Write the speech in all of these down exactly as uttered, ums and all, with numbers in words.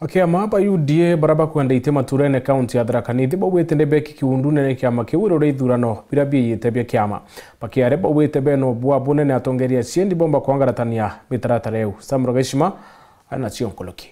Akiama ba U D A bara bakwenda iti maturene kaunti ya Tharaka Nithi baugite ni beki kiundune ni kiama kiu iruria ithurano biria biiyite bia kiama. Bakiaria baugite bena ubua bunene atongeria ciendi bomba kwangaratania mitaratara iu. Sam Rogeshima ari nacio nkuruki.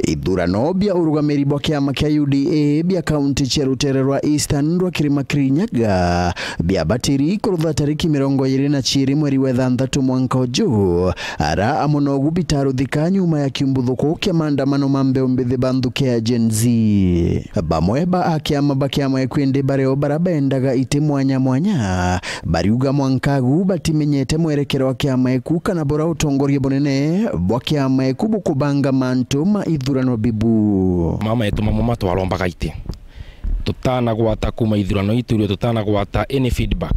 Ithurano bia urugamiri bwa kiama kia U D A bia kaunti cia rutere rwa Eastern rwa Kirima Kirinyaga biabatiri kurutha tariki mirongo iri na ciiri mweri wa ithanthatu mwanka uju, ara amwe nogu bitaruthika nyuma ya kiumbuthuku kia maandamano ma mbeu mbithi ba nthuki ya Gen Z. Bamwe ba akiama ba kiama eku indi bario bara bendaga iti mwanya mwanya, bariuga mwanka agu batimenyete mwerekero wa kiama eku kana bura utongoria bunene bwa kiama eku bukubanga mantu ma ithurano bibu. Mama yetu mamwe matwarombaga iti tutanagwata kuma ithurano itu, irio tutanagwata any feedback.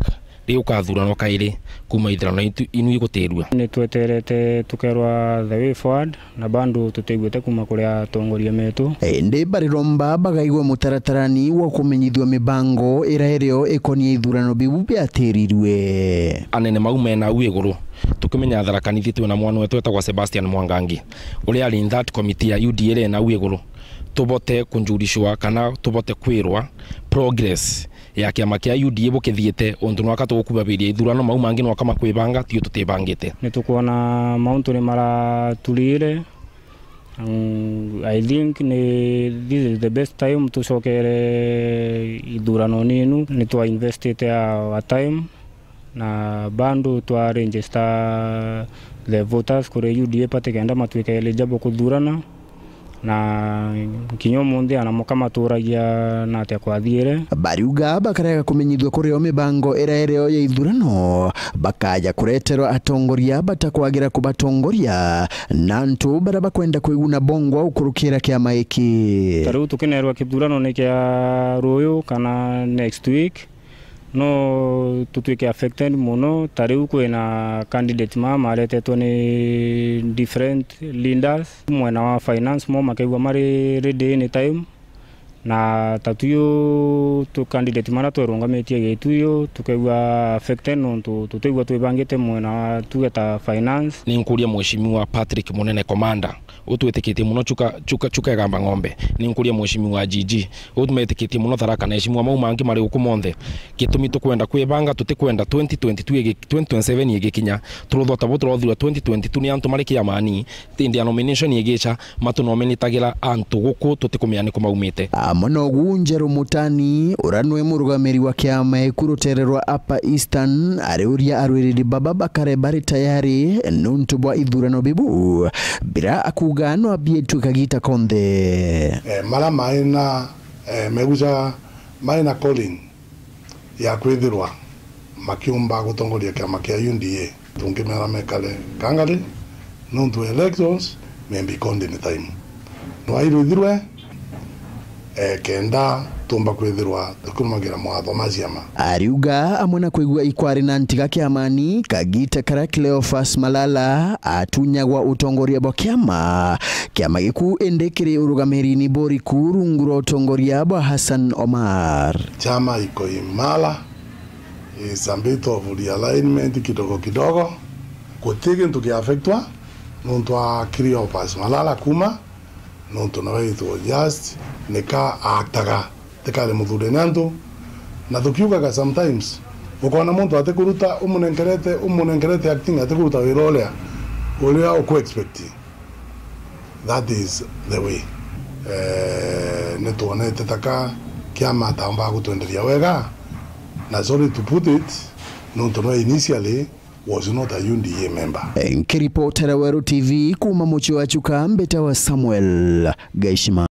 Riu ukathuranwa kairi kuma ithurano itu inu igutirua. Ni tweterete tukerwa the way forward, na bado tutiguite kuma kuri atongoria metu. Indi bariromba bagaigwa mutaratarani wa kumenyithua mibango ira irio ikonie ithurano biu biatirirue. Anene mau mena au iguru, tukimenya Tharaka Nithi twina mwana wetu etagwa Sebastian Mwangangi, uria ari in that committee ya U D A iri na au iguru, tubote kunjurishwa kana tubote kwirwa progress ya kiama kia U D A bukithiite, untu nwaka tugukubabiria ithurano, mau mangi nwaka makwibanga, tio tutibangite. Ni tukwona mauntu ni maraturire. Mm, I think ni, this is the best time tucokere ithurano ninu. Ni twa investite our time, na bado twa register the voters kuri U D A party kenda matuike eligible kuthurana. Na kinya umunthi ana muka maturagia na atia kwathiire. Bariuga bakarega kumenyithua kurio mibango ira irio ya ithurano, bakaja kureterwa atongoria batakwagira kubatongoria, na antu bara bakwenda kwiguna bongwa ukurukira kiama iki. Ta riu tukinerwa kithurano ni kia ruyu kana next week, no tutwike affected muno. Ta riu kwina candidate mama maretetwe ni different leaders. Mwena wa finance mo makegua mari ready any time, na ta tuyu tu candidate mara twerungamitie Gituyu tukegua affected nontu tutigua twibangite mwena wa tuge ta finance. Ni nkuria Mheshimiwa Patrick Munene Commander, utwitikitie muno Chuka, Chuka, Chuka Igamba Ng'ombe. Ni nkuria Mheshimiwa G G, utwitikitie muno Tharaka na Mheshimiwa mau mangi mari uku monthe. Gitumi tukwenda kwibanga, tutikwenda twenty twenty-two igi-, twenty twenty-seven igikinya, turuthota bo turothirwa twenty twenty-two ni antu mari kiamani, indi a nomination igicha, matunominitagira antu guku tutikumenya ni ku maumite. Amwe nogu Njeru Mutani, uria nwe murugamiri wa kiama eku rutere rwa Upper Eastern, ariuria arwiriri baba bakare bari tayari nuntu bwa ithurano bibu, bira akuga no abietue kagita konthe. Eh, mara maina, eh, meguca maina calling ya kwithirwa makiumba gutongoria kiama kia U D A, tungimera mekare kangari, nontu elections may be called any time. Nwairithirwe, eh, kenda tumba kwithirwa tukirumagira mawatho ma ciama. Ariuga amwe na kwigua ikwari na ntiga kiamani, kagita kara Cleophas Malala atunyagwa utongoria bwa kiama, kiama giku indi kiri urugamirini buriku rungu rwa utongoria bwa Hassan Omar. Chama iko imara, is a bit of realignment kidogo kidogo. Guti gintu kia affectwa nontu wa Cleophas Malala kuma, nontu nawe it was just nika aataga, tikari muthurene antu. Na tukiugaga sometimes, ukona muntu atikuruta, umunenkerete, umunenkerete acting, atikuruta wira uria, uria uku expect. That is the way. Eh, nitwonete taka kiama ataumbaga gutwenderia wega, na sorry to put it, nontu nwe initially was not a U D A member. Nkiripotera Weru T V kuma mucii wa Chuka, mbitawa Samuel Gaishima.